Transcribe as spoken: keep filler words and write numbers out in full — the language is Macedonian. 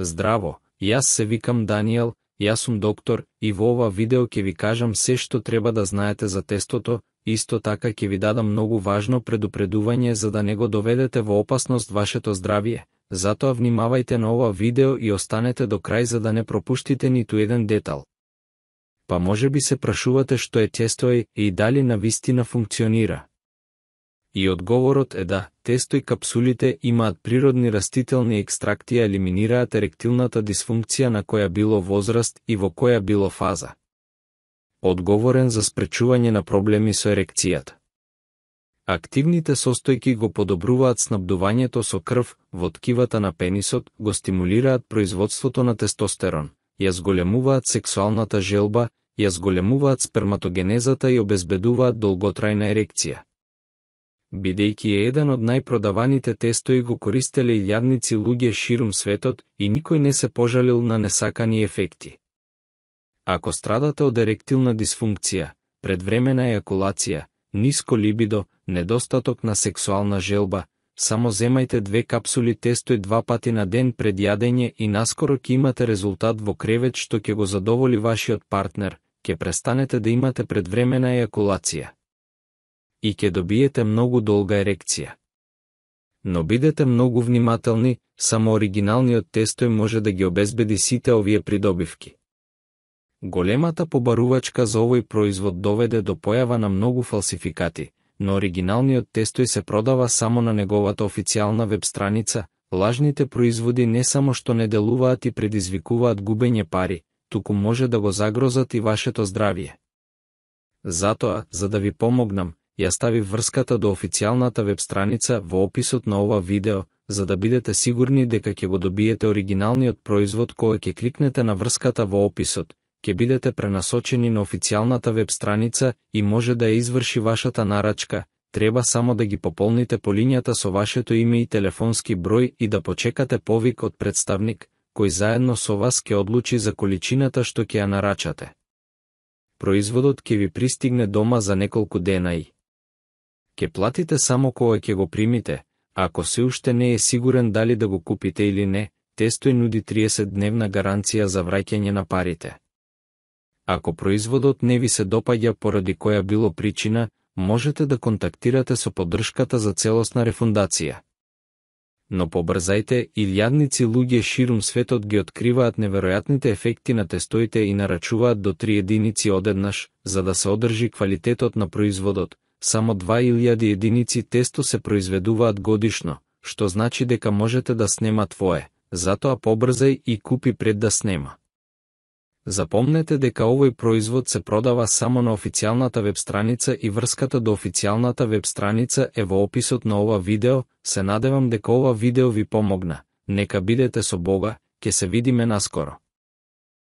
Здраво, јас се викам Даниел, јас сум доктор и во ова видео ќе ви кажам се што треба да знаете за тестото, исто така ќе ви дадам многу важно предупредување за да не го доведете во опасност вашето здравје. Затоа внимавајте на ова видео и останете до крај за да не пропуштите ниту еден детал. Па може би се прашувате што е тестој и дали навистина функционира. И одговорот е да, тестој капсулите имаат природни растителни екстракти и елиминираат еректилната дисфункција на која било возраст и во која било фаза. Одговорен за спречување на проблеми со ерекцијата. Активните состојки го подобруваат снабдувањето со крв во ткивата на пенисот, го стимулираат производството на тестостерон, ја зголемуваат сексуалната желба, ја зголемуваат сперматогенезата и обезбедуваат долготрајна ерекција. Бидејќи е еден од најпродаваните тестои го користеле илјадници луѓе ширум светот и никој не се пожалил на несакани ефекти. Ако страдате од еректилна дисфункција, предвремена ејакулација, ниско либидо, недостаток на сексуална желба, само земајте две капсули тестој два пати на ден пред јадење и наскоро ќе имате резултат во кревет што ќе го задоволи вашиот партнер, ќе престанете да имате предвремена ејакулација и ќе добиете многу долга ерекција. Но бидете многу внимателни, само оригиналниот тестој може да ги обезбеди сите овие придобивки. Големата побарувачка за овој производ доведе до појава на многу фалсификати, но оригиналниот тестој се продава само на неговата официјална веб страница. Лажните производи не само што не делуваат и предизвикуваат губење пари, туку може да го загрозат и вашето здравје. Затоа, за да ви помогнам, ја ставив врската до официјалната веб страница во описот на ова видео, за да бидете сигурни дека ќе го добиете оригиналниот производ кога ќе кликнете на врската во описот, ќе бидете пренасочени на официјалната веб страница и може да ја изврши вашата нарачка. Треба само да ги пополните полињата со вашето име и телефонски број и да почекате повик од представник, кој заедно со вас ќе одлучи за количината што ќе ја нарачате. Производот ќе ви пристигне дома за неколку дена и ќе платите само кога ќе го примите. Ако се уште не е сигурен дали да го купите или не, тестој нуди триесет дневна гаранција за враќање на парите. Ако производот не ви се допаѓа поради која било причина, можете да контактирате со поддршката за целосна рефундација. Но побрзајте, илјадници луѓе ширум светот ги откриваат неверојатните ефекти на тестоите и нарачуваат до три единици одеднаш, за да се одржи квалитетот на производот. Само два илјади единици тесто се произведуваат годишно, што значи дека можете да снема твое, затоа побрзај и купи пред да снема. Запомнете дека овој производ се продава само на официјалната веб страница и врската до официјалната веб страница е во описот на ова видео. Се надевам дека ова видео ви помогна. Нека бидете со Бога, ќе се видиме наскоро.